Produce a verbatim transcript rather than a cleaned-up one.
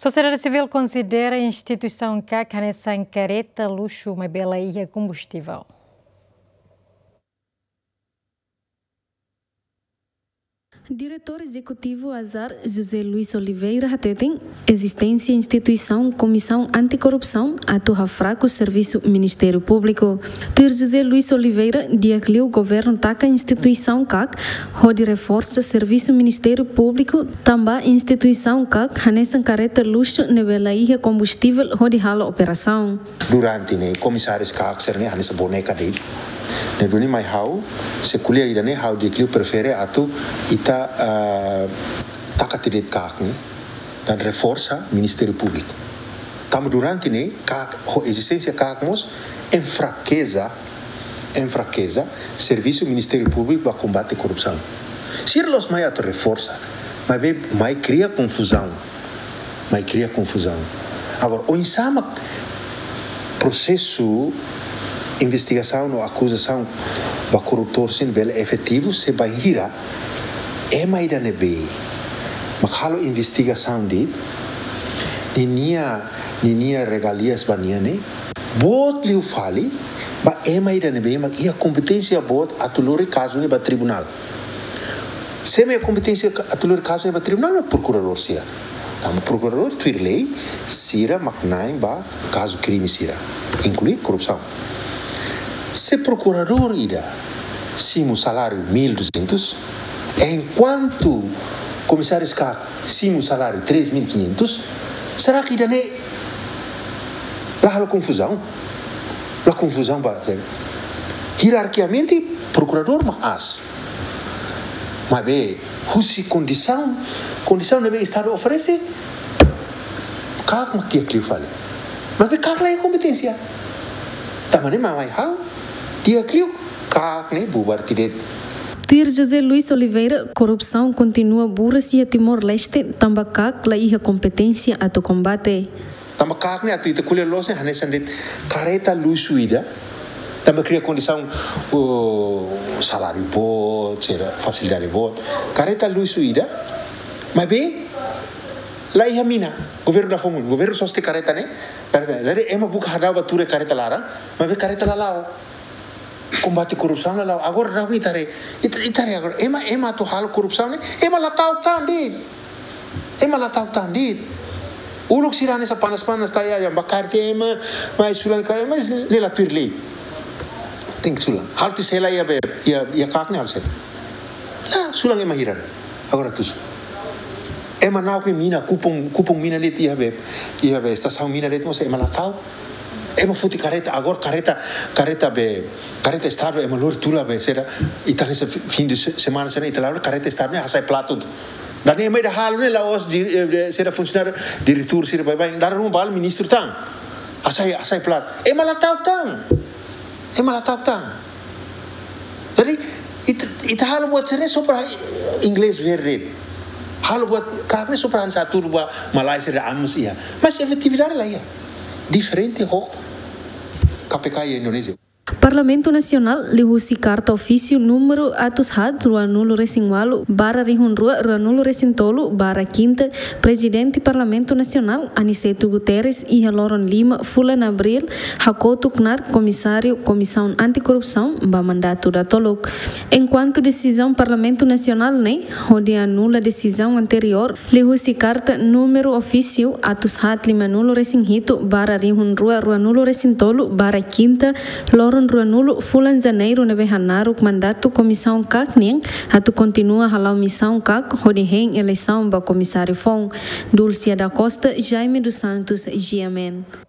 Sosiedade sivíl konsidera instituisaun KAK hanesan karreta luxu, maibé la iha kombustivel. Diretór Ezekutivu ASAR, José Luís Oliveira, hateten ezisténsia instituisaun Komisaun Antikorrupsaun atu hafraku servisu Ministériu Públiku. Tuir José Luís Oliveira, di'ak liu governu taka instituisaun KAK hodi reforsa servisu Ministériu Públiku, tanba instituisaun KAK hanesan karreta luxu ne'ebé la iha kombustivel hodi halo operasaun. Durante ne'e, komisáriu KAK sira-ne'e hanesan boneka de'it. Ne'e duni mai ha'u, se ko'alia ida-ne'e ha'u di'ak liu prefere atu ita, ah, taka tiha de'it KAK ne'e, no reforsa Ministériu Públiku. Tanba durante ne'e, KAK, ho ezisténsia KAK mós, enfrakeza, enfrakeza servisu Ministériu Públiku ba kombate korrupsaun. Sira la'ós mai atu reforsa, maibé mai kria konfuzaun. Mai kria konfuzaun. Agora, oinsá mak prosesu investigasaun no akuzasaun ba korruptór sira bele efetivu se bainhira ema ida ne'ebé mak halo investigasaun de'it, ninia, ninia regalias ba nia ne'e boot liu fali ba ema ida ne'ebé mak iha kompeténsia boot atu lori kazu ne'e ba tribunál. Sé mak iha kompeténsia ka-, atu lori kazu ne'e ba tribunál, mak prokuradór sira. Tanba prokuradór tuir lei sira mak na'in ba kazu krime sira, inklui korrupsaun. Se prokuradór ida simu saláriu mil e duzentos, enkuantu komisáriu KAK simu saláriu três mil e quinhentos, será que ida-ne'e la halo konfuzaun? La konfuzaun ba, hierarkiamente prokuradór mak aas. Maibé husi kondisaun, kondisaun ne'ebé Estadu oferese, KAK mak di'ak liu fali. Maibé KAK la iha kompeténsia. Tanba ne'e mak mai ha'u di'ak liu KAK ne'e bubar tiha de'it. Tuir José Luís Oliveira, korrupsaun kontinua buras iha Timor-Leste, tanba KAK la iha kompeténsia atu kombate. Tanba KAK ne'e atu ita ko'alia loos ne'e hanesan de'it karreta luxu ida. Tanba kria kondisaun, oh, saláriu boot, sira fasilidade boot. Karreta luxu ida, maibé la iha mina, governu la fó mun, governu sosa tiha karreta ne'e, karreta, jadi ema buka hadau ba tuur karreta laran, maibé karreta la la'o. Kombate korrupsaun la la'o. Agora daudaun ita haree, ita, ita haree agora, ema, ema atu halo korrupsaun ne'e, ema la ta'uk tan de'it. Ema la ta'uk tan de'it. Uluk sira hanesan panas-panas taya yang bakar ke ema, mai sulan kare, mai ne'e la tuir lei. Tenke sulan. Halo tiha sela iha be, iha, iha KAK ne'e halo sela. La, sulan ema hirak. Agora tusu. Ema na'ok nia mina, kupang, kupang mina de'it iha be, iha be, estasaun mina de'it mós ema la ta'uk. Ema foti karreta, agora karreta, karreta be, karreta Estadu ema lori tula be, sira, ita hanesan fi-, fim de se-, semana, sira ita la'o, karreta Estadu ne'e hasai platu. Dala ema ida halo ne'e la'ós di, eh, de, sira funsionáriu, diretór, sira baibain, dala ruma ba halo ministru tan. Hasai, hasai platu. Ema la ta'uk tan. Ema la ta'uk tan. Jadi, ita, ita halo buat sira-ne'e só para inglés ver de'it. Halo buat KAK ne'e só para hanesan atu ba malae sira amus iha. Mas efetividade la iha. Diferente ho KPK iha Indonézia. Parlamentu Nasionál liuhusi karta ofísiu númeru atus haat ruanulu-resin-ualu barra rihun rua ruanulu-resin-tolu barra kinta, Prezidente Parlamentu Nasionál, Aniceto Guterres, iha loron lima fulan Abríl, hakotu knaar Komisáriu Komisaun Antikorrupsaun ba mandatu datoluk. Enkuantu desizaun Parlamentu Nasionál ne'e hodi anula desizaun anteriór, liuhusi karta númeru ofísiu atus haat limanulu-resin-hitu barra rihun rua ruanulu-resin-tolu barra kinta, loron ruanulu fulan Janeiru ne'ebé hanaruk mandatu Komisaun KAK nian atu kontinua hala'o misaun KAK hodi hein eleisaun ba Komisáriu foun. Dulcia da Costa, Jaime dos Santos, G M N.